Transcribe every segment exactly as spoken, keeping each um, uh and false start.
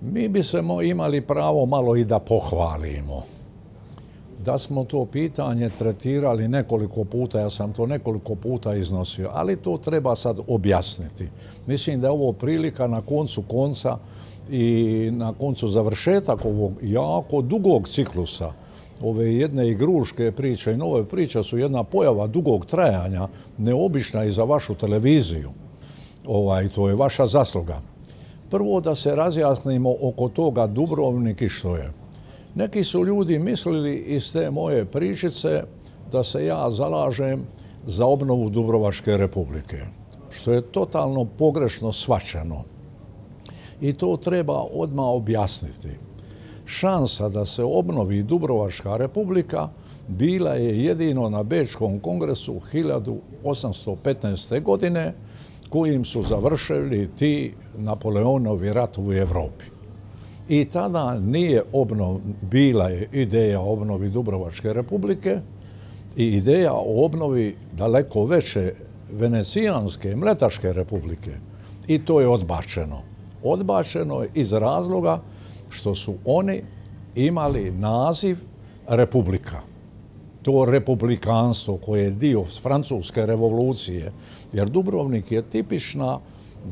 Mi bi se imali pravo malo i da pohvalimo. Da smo to pitanje tretirali nekoliko puta, ja sam to nekoliko puta iznosio, ali to treba sad objasniti. Mislim da je ovo prilika na koncu konca i na koncu završetak ovog jako dugog ciklusa, ove jedne igruške priče i nove priče su jedna pojava dugog trajanja, neobična i za vašu televiziju. Ovaj, to je vaša zasluga. Prvo da se razjasnimo oko toga Dubrovnik i što je. Neki su ljudi mislili iz te moje pričice da se ja zalažem za obnovu Dubrovačke republike, što je totalno pogrešno shvaćeno. I to treba odmah objasniti. Šansa da se obnovi Dubrovačka republika bila je jedino na Bečkom kongresu hiljadu osamsto petnaeste. godine, kojim su završili ti Napoleonovi ratovi u Europi. I tada nije obnov, bila je ideja o obnovi Dubrovačke republike i ideja o obnovi daleko veće Venecijanske, Mletačke republike. I to je odbačeno. Odbačeno je iz razloga što su oni imali naziv republika. To republikanstvo koje je dio Francuske revolucije, jer Dubrovnik je tipična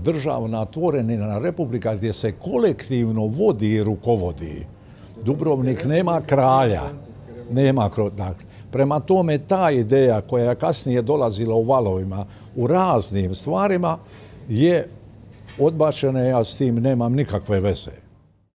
državna tvorenina republika gdje se kolektivno vodi i rukovodi. Dubrovnik nema kralja, nema dakle, prema tome ta ideja koja je kasnije dolazila u valovima u raznim stvarima je odbačena, ja s tim nemam nikakve veze.